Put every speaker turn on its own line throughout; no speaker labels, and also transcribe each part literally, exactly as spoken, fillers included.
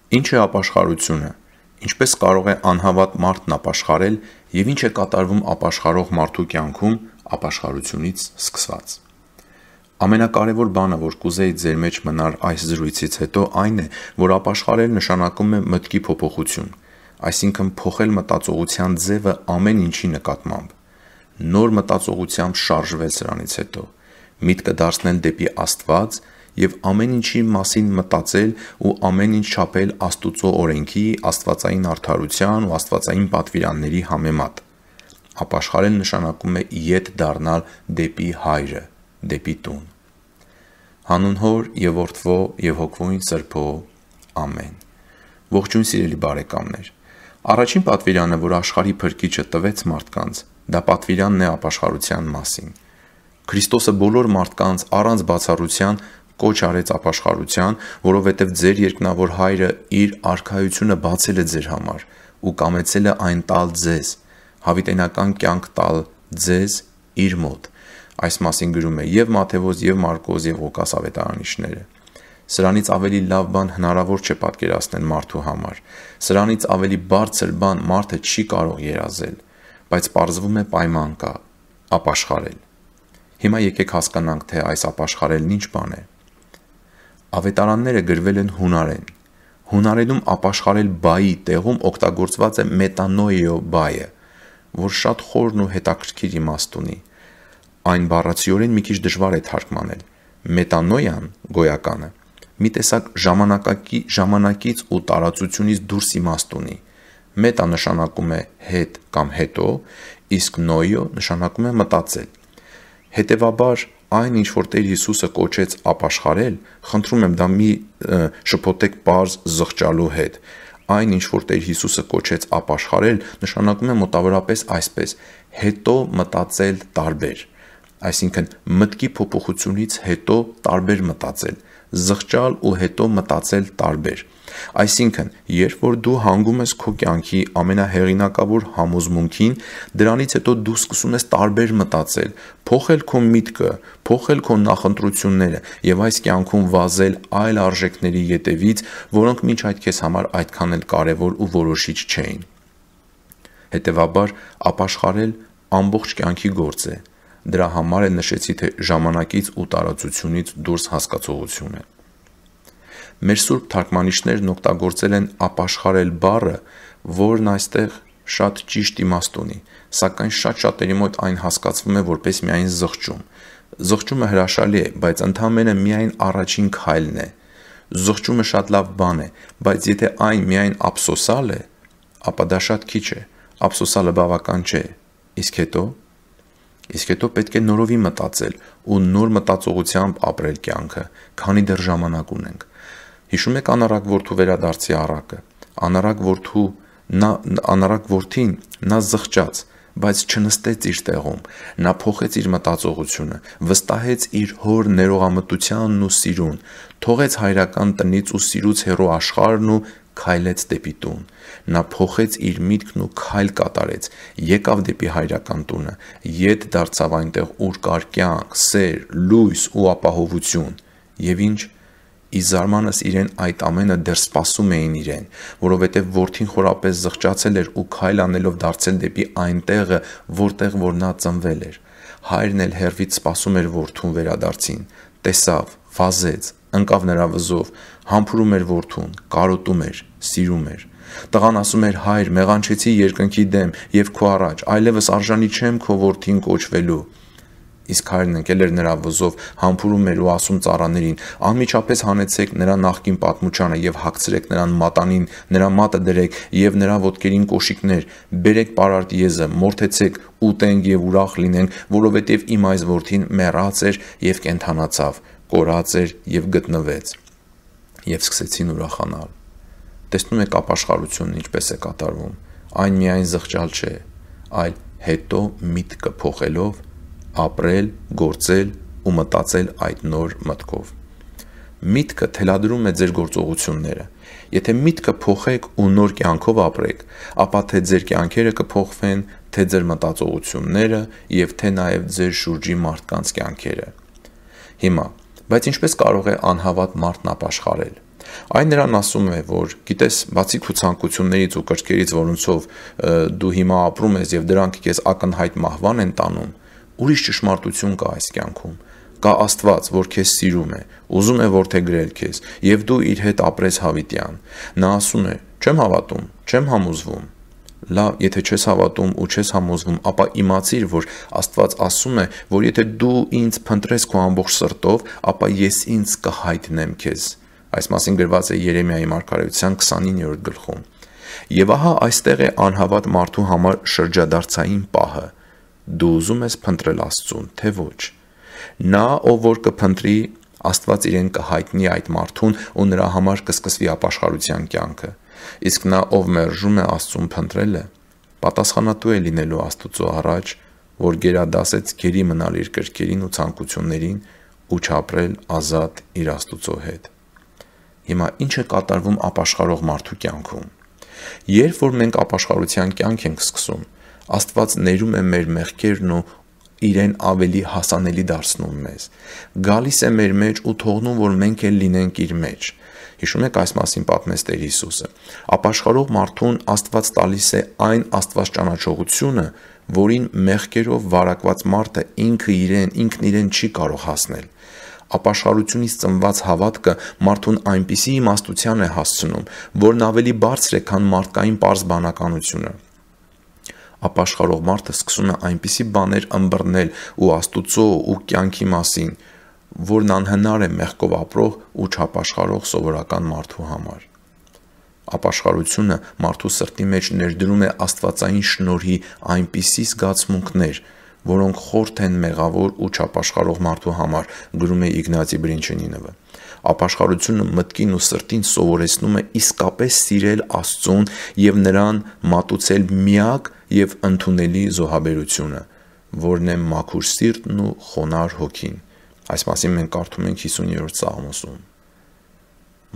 Ինչ է ապաշխարությունը, ինչպես կարող է անհավատ մարդն ապաշխարել և ինչ է կատարվում ապաշխարող մարդու կյանքում ապաշխարությունից սկսված։ Ամենակարևոր բանը, որ կուզեի ձեր մեջ մնար այս զրույցից հետո, այն է, որ ապաշխարել նշանակում է մտքի փոփոխություն, այսինքն փոխել մտածողության ձևը ամեն ինչի նկատմամբ, նոր մտածողությամբ շարժվել սրանից հետո, միտքը դարձնել դեպի Աստված և ամեն ինչի մասին մտածել ու ամեն ինչ չափել Աստուծո օրենքի, աստվածային արդարության ու աստվածային պատվիրանների համեմատ։ Ապաշխարել նշանակում է ետ դառնալ դեպի Հայրը, դեպի տուն։ Հանուն Հոր և Որդվո և Հոգվույն Սրբո։ Ամեն։ Ողջույն սիրելի բարեկամներ։ Առաջին պատվիրանը, որ աշխարհի Փրկիչը տվեց մարդկանց, դա պատվիրանն է ապաշխարության մասին։ Քրիստոսը բոլոր մարդկանց առանց բացառության կոչ արեց ապաշխարության, որովհետև ձեր երկնավոր Հայրը իր արքայությունը բացել է ձեր համար ու կամեցել է այն տալ ձեզ, հավիտենական կյանք տալ ձեզ իր մոտ։ Այս մասին գրում է և Մատթեոս, և Մարկոս, և Ղուկաս ավետարանիչները։ Սրանից ավելի լավ բան հնարավոր չէ պատկերացնել մարդու համար։ Սրանից ավելի բարձր բան մարդը չի կարող երազել, բայց պարզվում է պայման կա՝ ապաշխարել։ Հիմա եկեք հասկանանք, թե այս ապաշխարելն ինչ բան է։ Ավետարանները գրվել են հունարեն։ Հունարենում ապաշխարել բայի տեղում օգտագործված է մետանոիո բայը, որ շատ խորն ու հետաքրքիր իմաստ ունի։ Այն բառացիորեն մի քիչ դժվար է թարգմանել։ Մետանոյան գոյականը մի տեսակ ժամանակից ու տարածությունից դուրս իմաստ ունի։ Մետա նշանակում է հետ կամ հետո, իսկ նոյո նշանակում է մտածել։ Հետևաբար, այն ինչ որ Տեր Հիսուսը կոչեց ապաշխարել, խնդրում եմ դա մի շփոթեք պարզ զղջալու հետ, այն ինչ որ Տեր Հիսուսը կոչեց ապաշխարել, նշանակում է մոտավորապես այսպես. հետո մտածել տարբեր, այսինքն մտքի փոփոխությունից հետո տարբեր մտածել, զղջալ ու հետո մտածել տարբեր։ Այսինքն, երբ որ դու հանգում ես քո կյանքի ամենահեղինակավոր համոզմունքին, դրանից հետո դու սկսում ես տարբեր մտածել, փոխել քո միտքը, փոխել քո նախընտրությունները և այս կյանքում վազել այլ արժեքների ետևից, որոնք մինչ այդ քեզ համար այդքան էլ կարևոր ու որոշիչ չէին։ Հետևաբար, ապաշխարել ամբողջ կյանքի գործ է։ Դրա համար էլ նշեցի, թե ժամանակից ու տարածությունից դուրս հասկացողություն է։ Մեր սուրբ թարգմանիչներն օգտագործել են ապաշխարել բառը, որն այստեղ շատ ճիշտ իմաստ ունի, սակայն շատ շատերի մոտ այն հասկացվում է որպես միայն զղջում։ Զղջումը հրաշալի է, բայց ընդամենը միայն առաջին քայլն է։ Զղջումը շատ լավ բան է, բայց եթե այն միայն ափսոսալ է, ապա դա շատ քիչ է, ափսոսալը բավական չէ։ Իսկ հետո։ Իսկ հետո պետք է նորովի մտածել ու նոր մտածողությամբ ապրել կյանքը, քանի դեռ ժամանակ ունենք։ Հիշում եք անառակ որդու վերադարձի առակը։ Անառակ որդու նա անառակ որդին նա զղջաց, բայց չնստեց իր տեղում։ Նա փոխեց իր մտածողությունը, վստահեց իր հոր ներողամտությանն ու սիրուն, թողեց հայրական տնից ու սիրուց հեռու աշխարհն ու քայլեց դեպի տուն։ Նա փոխեց իր միտքն ու քայլ կատարեց, եկավ դեպի հայրական տունը, ետ դարձավ այնտեղ, ուր կար կյանք, սեր, լույս ու ապահովություն։ Եվ ինչ։ Ի զարմանս իրեն այդ ամենը դեռ սպասում էին իրեն, որովհետև որդին խորապես զղջացել էր ու քայլ անելով դարձել դեպի այն տեղը, որտեղ որ նա ծնվել էր։ Հայրն էլ հեռվից սպասում էր որդուն վերադարձին, տեսավ, վազեց, ընկավ նրա վզով, համբուրում էր որդուն, կարոտում էր, սիրում էր։ Տղան ասում էր. «Հայր, մեղանչեցի երկնքի դեմ և քո առաջ, այլևս արժանի չեմ քո որդին կոչվելու»։ Իսկ հայրն ընկել էր նրա վզով, համբուրում էր ու ասում ծառաներին. «Անմիջապես հանեցեք նրա նախկին պատմուչանը և հագցրեք նրան մատանին, նրա մատը դրեք և նրա ոտքերին կոշիկներ, բերեք պարարտ եզը, մորթեցեք, ուտենք և ուրախ լինենք, որովհետև իմ այս որդին մեռած էր և կենդանացավ, կորած էր և գտնվեց»։ Եվ սկսեցին ուրախանալ։ Տեսնում եք ապաշխարությունն ինչպես է կատարվում։ Այն միայն զղջալ չէ, այլ հետո միտքը փոխելով ապրել, գործել ու մտածել այդ նոր մտքով։ Միտքը թելադրում է ձեր գործողությունները։ Եթե միտքը փոխեք ու նոր կյանքով ապրեք, ապա թե ձեր կյանքերը կփոխվեն, թե ձեր մտածողությունները և թե նաև ձեր շուրջի մարդկանց կյանքերը։ Հիմա, բայց ինչպես կարող է անհավատ մարդն ապաշխարել։ Այն նրան ասում է, որ գիտես, բացի քո ցանկություններից ու կրքերից, որոնցով դու հիմա ապրում ես եւ դրանք քեզ ակնհայտ մահվան են տանում, ուրիշ ճշմարտություն կա այս կյանքում։ Կա Աստված, որ քեզ սիրում է, ուզում է որդեգրել քեզ, եւ դու իր հետ ապրես հավիտյան։ Նա ասում է. «Չեմ հավատում, չեմ համոզվում»։ Լավ, եթե չես հավատում ու չես համոզվում, ապա իմացիր, որ Աստված ասում է, որ եթե դու ինձ փնտրես քո ամբողջ սրտով, ապա ես ինձ կհայտնեմ քեզ։ Այս մասին գրված է Երեմիայի մարգարեության քսանիններորդ գլխում։ Եվ ահա այստեղ է անհավատ մարդու համար շրջադարձային պահը։ Դու ուզում ես փնտրել Աստծուն, թե ոչ։ Նա, ով որ կփնտրի, Աստված իրեն կհայտնի այդ մարդուն ու նրա համար կսկսվի ապաշխարության կյանքը։ Իսկ նա, ով մերժում է Աստծուն փնտրելը, պատասխանատու է լինելու Աստծո առաջ, որ գերադասեց գերի մնալ իր կրքերին ու ցանկություններին ու չապրել ազատ իր Աստծո հետ։ Հիմա ինչ է կատարվում ապաշխարող մարդու կյանքում։ Երբ որ մենք ապաշխարության կյանք ենք սկսում, Աստված ներում է մեր մեղքերն ու իրեն ավելի հասանելի դարձնում մեզ։ Գալիս է մեր մեջ ու թողնում, որ մենք էլ լինենք իր մեջ։ Հիշում եք այս մասին պատմեց Տեր Հիսուսը։ Ապաշխարող մարդուն Աստված տալիս է այն Աստված ճանաչողությունը, որին մեղքերով վարակված մարդը ինքը իրեն, ինքն իրեն չի կարող հասնել։ Ապաշխարությունից ծնված հավատքը մարդուն այնպիսի իմաստության է հասցնում, որն ավելի բարձր է, քան մարդկային պարզ բանականությունը։ Ապաշխարող մարդը սկսում է այնպիսի բաներ ըմբռնել ու Աստուծո ու կյանքի մասին, որն անհնար է մեղքով ապրող ու չապաշխարող սովորական մարդու համար։ Ապաշխարությունը մարդու սրտի մեջ ներդրում է աստվածային շնորհի այնպիսի զգացմունքներ, որոնք խորթ են մեղավոր ու չապաշխարող մարդու համար, գրում է Իգնացի Բրինչենինովը։ Ապաշխարությունը մտքին ու սրտին սովորեցնում է իսկապես սիրել Աստծուն եւ նրան մատուցել միակ եւ ընդունելի զոհաբերությունը, որն է մաքուր սիրտն ու խոնարհ հոգին։ Այս մասին մենք կարդում ենք հիսուններորդ Սաղմոսում։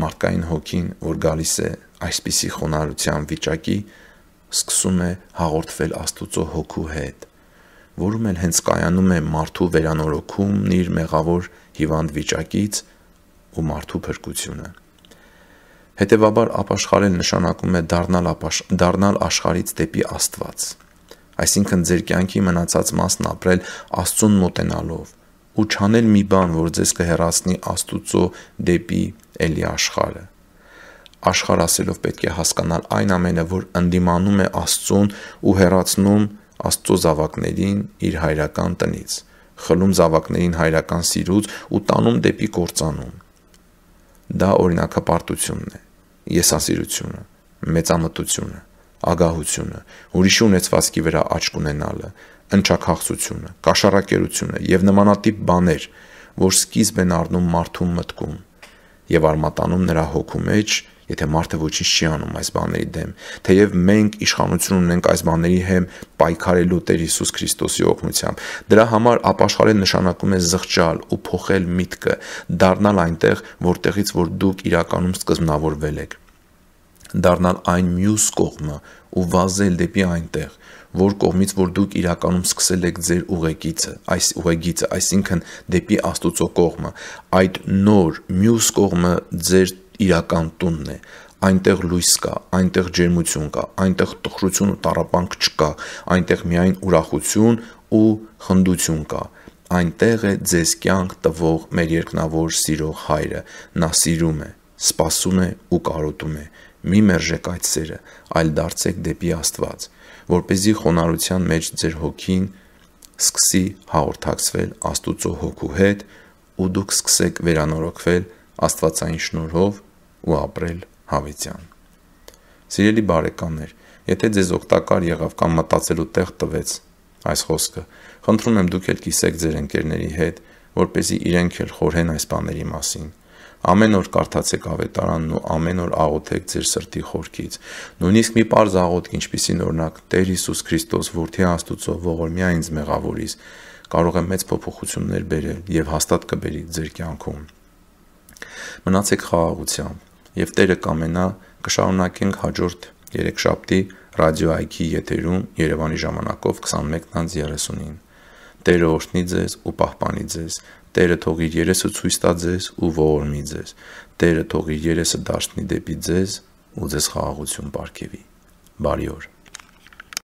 Մարդկային հոգին, որ գալիս է այսպիսի խոնարհության վիճակի, սկսում է հաղորդվել Աստուծո հոգու հետ, որում էլ հենց կայանում է մարդու վերանորոգումն իր մեղավոր հիվանդ վիճակից ու մարդու փրկությունը։ Հետևաբար ապաշխարել նշանակում է դառնալ, ապաշ... դառնալ աշխարհից դեպի Աստված, այսինքն ձեր կյանքի մնացած մասն ապրել Աստծուն մոտենալով ու չանել մի բան, որ ձեզ կհեռացնի Աստուծո դեպի էլի աշխարհը։ Աշխարհ ասելով պետք է հասկանալ այն ամենը, որ ընդդիմանում է Աստծուն ու հեռացնում Աստծո զավակներին իր հայրական տնից, խլում զավակներին հայրական սիրուց ու տանում դեպի կործանում։ Դա օրինակապարտությունն է, եսասիրությունը, մեծամտությունը, ագահությունը, ուրիշի ունեցվածքի վրա աչք ունենալը, ընչաքաղցությունը, կաշառակերությունը եւ նմանատիպ բաներ, որ սկիզբ են առնում մարդու մտքում եւ արմատանում նրա հոգու մեջ, եթե մարդը ոչինչ չի անում այս բաների դեմ, թեև մենք իշխանություն ունենք այս բաների հեմ պայքարելու Տեր Հիսուս Քրիստոսի օգնությամբ։ Դրա համար ապաշխարել նշանակում է զղջալ ու փոխել միտքը, դառնալ այնտեղ, որտեղից որ դուք իրականում սկզբնավորվել եք, դառնալ այն մյուս կողմը ու վազել դեպի այնտեղ, որ կողմից որ դուք իրականում սկսել եք ձեր ուղեկիցը, այս ուղեգիծը, այսինքն դեպի Աստուծո կողմը, այդ նոր մյուս կողմը ձեր իրական տունն է, այնտեղ լույս կա, այնտեղ ջերմություն կա, այնտեղ տխրություն ու տառապանք չկա, այնտեղ միայն ուրախություն ու խնդություն կա, այնտեղ է ձեզ կյանք տվող մեր երկնավոր սիրող Հայրը, նա սիրում է, սպասում է ու կարոտում է։ Մի մերժեք այդ սերը, այլ դարձեք դեպի Աստված, որպեսզի խոնարհության մեջ ձեր հոգին սկսի հաղորդակցվել Աստուծո հոգու հետ ու դուք սկսեք վերանորոգվել Աստվածային շնորհով ու ապրել հավիտյան։ Սիրելի բարեկամներ, եթե ձեզ օգտակար եղավ կամ մտածելու տեղ տվեց այս խոսքը, խնդրում եմ դուք էլ կիսեք ձեր ընկերների հետ, որպեսզի իրենք էլ խորհեն այս բաների մասին։ Ամեն օր կարդացեք ավետարանն ու ամեն օր աղոթեք ձեր սրտի խորքից։ Նույնիսկ մի պարզ աղոթք, ինչպիսին օրինակ Տեր Հիսուս Քրիստոս, որդի Աստուծո, ողորմյա ինձ մեղավորիս, կարող է մեծ փոփոխություններ բերել եւ հաստատ կբերի ձեր կյանքում։ Մնացեք խաղաղությամբ եւ Տերը կամենա կշարունակենք հաջորդ երեքշաբթի ռադիո այքի եթերում Երևանի ժամանակով քսանմեկն անց երեսունին։ Տերը օրհնի ձեզ ու պահպանի ձեզ։ Տերը թող իր երեսը ցույց տա ձեզ ու ողորմի ձեզ։ Տերը թող իր երեսը դարձնի դեպի ձեզ ու ձեզ խաղաղություն պարգևի։ Բարի օր։